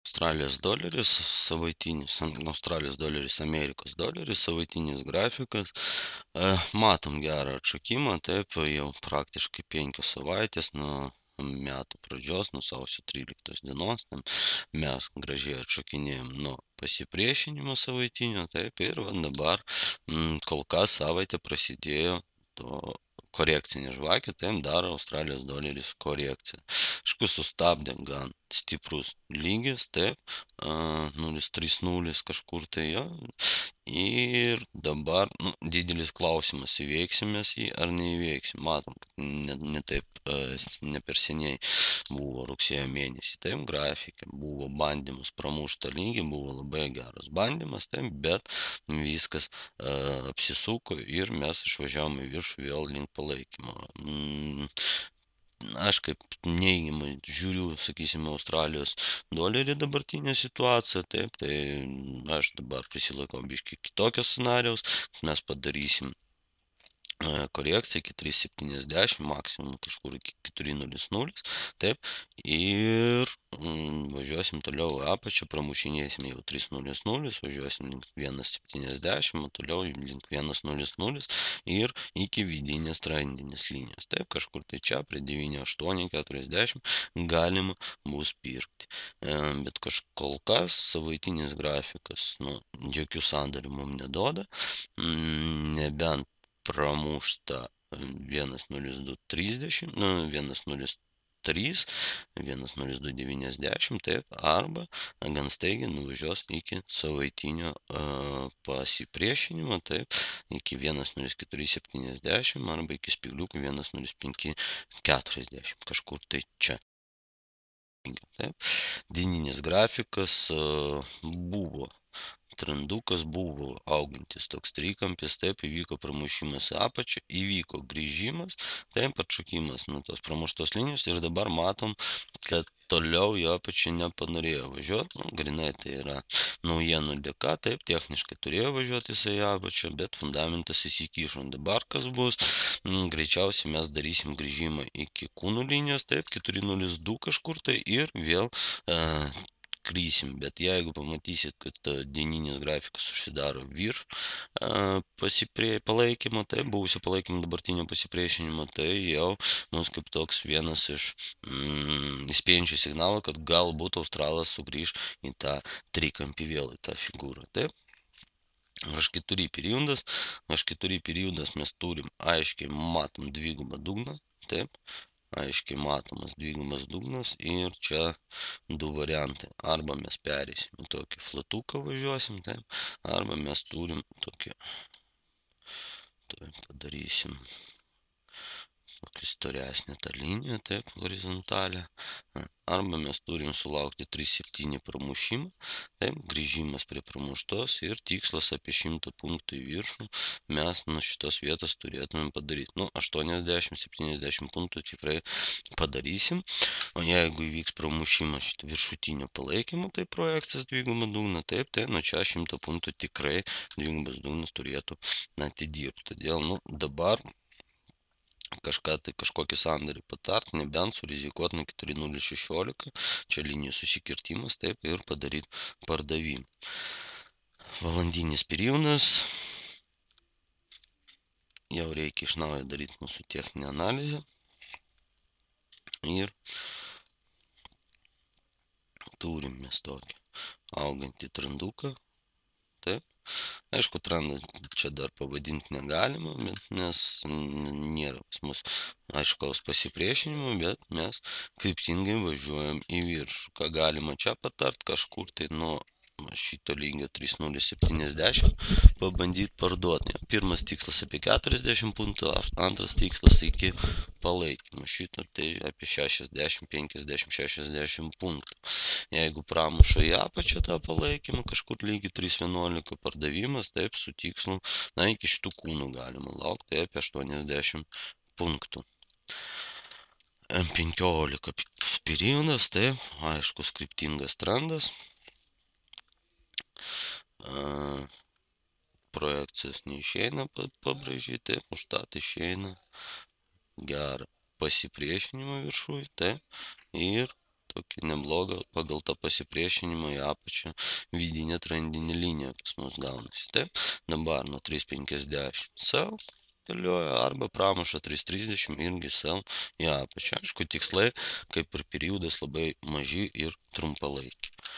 Australijos doleris savaitinis, Australijos doleris, Amerikos doleris savaitinis grafikas. Matom gerą atšokimą, taip, jau praktiškai 5 savaitės nuo metų pradžios, nuo sausio 13 dienos, mes gražiai atšokinėjom nuo pasipriešinimo savaitinio, taip, ir dabar kol kas savaitė prasidėjo to korekcinė žvakė, taip daro Australijos doleris korekciją. Aišku, sustabdė gan stiprus lygis, taip, 0,30 kažkur tai jo. Ir dabar didelis klausimas, įveiksim mes jį ar neįveiksim. Matom, kad ne taip, ne per seniai buvo rugsėjo mėnesį, taip, grafikė, buvo bandymas pramuštą lygį, buvo labai geras bandymas, taip, bet viskas apsisuko ir mes išvažiavom į viršų vėl link palaikymo. Aš kaip neigiamai žiūriu, sakysime, Australijos dolerį dabartinę situaciją, taip, tai aš dabar prisilaikau biškį kitokio scenarijaus, mes padarysim korekcija iki 3,70, maksimum kažkur iki 4,00, taip, ir važiuosim toliau į apačią, pramušinėsim jau 3,00, važiuosim link 1,70, o toliau link 1,00 ir iki vidinės trendinės linijos, taip, kažkur tai čia prie 9,840 galima bus pirkti. Bet kol kas savaitinis grafikas, jokių sandarių mums neduoda, nebent pramušta 1,0230, 1,03, 1,0290, taip, arba gan staigiai nuvažiuos iki savaitinio pasipriešinimo, taip, iki 1,0470 arba iki spygliukų 1,0540, kažkur tai čia. Taip. Dieninis grafikas buvo trendukas, buvo augantis toks trikampis, taip, įvyko pramušimas į apačią, įvyko grįžimas, taip, atšokimas nuo tos pramuštos linijos ir dabar matom, kad toliau į apačią nepanorėjo važiuoti, grinai tai yra naujienų dėka, taip, techniškai turėjo važiuoti jisai į apačią, bet fundamentas įsikišo. Dabar kas bus, greičiausiai mes darysim grįžimą iki kūnų linijos, taip, 4,02 kažkur tai ir vėl krysim, bet jeigu pamatysit, kad dieninis grafikas susidaro virš palaikymo, tai buvusio palaikymo dabartinio pasipriešinimo, tai jau mums kaip toks vienas iš įspėjančių signalų, kad galbūt Australas sugrįž į tą trikampį vėl, į tą figūrą. Taip. H4 periodas mes turim aiškiai matom dvigubą dugną, taip, aiškiai matomas dvigubas dugnas ir čia du variantai. Arba mes perėsim į tokį flatuką važiuosim, taip, arba mes turim tokį, padarysim tokį storesnį tą liniją, taip, horizontalę. Arba mes turim sulaukti 3,7 pramušimą, taip, grįžimas prie pramuštos ir tikslas apie 100 punktų į viršų mes nuo šitos vietos turėtumėm padaryti. 80-70 punktų tikrai padarysim, o jeigu įvyks pramušimas šitą viršutinio palaikymo, tai projekcijas dvigubą dugną, taip, tai nuo čia 100 punktų tikrai dvigubas dugnas turėtų atidirbti. Todėl, dabar kažkokį sandorį patart, nebent surizikuot nuo 4,016, čia linijų susikirtimas, taip, ir padaryti pardavimą. Valandinis periodas, jau reikia iš naujo daryti mūsų techninę analizę ir turim mes tokį augantį trenduką, taip. Aišku, trendą čia dar pavadinti negalima, nes nėra pas mus aiškaus pasipriešinimo, bet mes kryptingai važiuojam į viršų. Ką galima čia patart, kažkur tai nuo šito lygio 3,070 pabandyti parduoti. Pirmas tikslas apie 40 punktų, antras tikslas iki palaikymo. Šito tai apie 60, 50, 60 punktų. Jeigu pramuša į apačią tą palaikymą, kažkur lygiai 3,11 pardavimas, taip, su tikslu, iki šitų kūnų galima laukti, tai apie 80 punktų. M15 periodas, taip, aiškus kryptingas trendas. Projekcijos neišeina pabrėžyti, taip, užtat išeina gerą pasipriešinimą viršui, taip, ir tokį neblogą pagal tą pasipriešinimą į apačią vidinę trendinę liniją pas mus gaunasi. Taip, dabar nuo 3,50 sell dėlioja arba pramuša 3,30 irgi sell į apačią. Aišku, tikslai, kaip ir periodas, labai maži ir trumpalaikiai.